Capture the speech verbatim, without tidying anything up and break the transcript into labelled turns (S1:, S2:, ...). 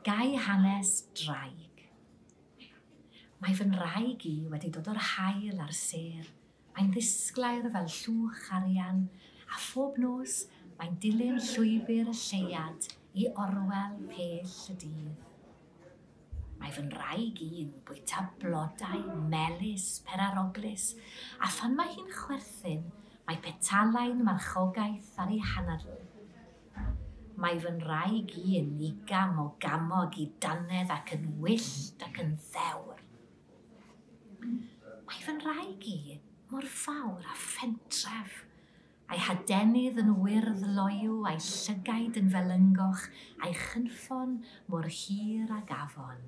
S1: Gai hanes draig. Mae fy nraig i wedi dod o'r haul a'r sêr. Mae'n ddisglair fel llwch arian, a phob nos mae'n dilyn llwybr y lleuad i orwel pell y dydd. Mae fy nraig i'n bwyta blodau melys peraroglus, a phan mae hi'n chwerthin, mae petalau'n marchogaeth ar ei hanadl. Mae fy nraig i'n igam o gamog i dannedd ac yn wyllt ac yn ddewr. Mae fy nraig i mor fawr a phentref, a'i hadenydd yn wyrdd loyw, a'i llygaid yn felyngoch, a'i chynffon mor hir ag afon.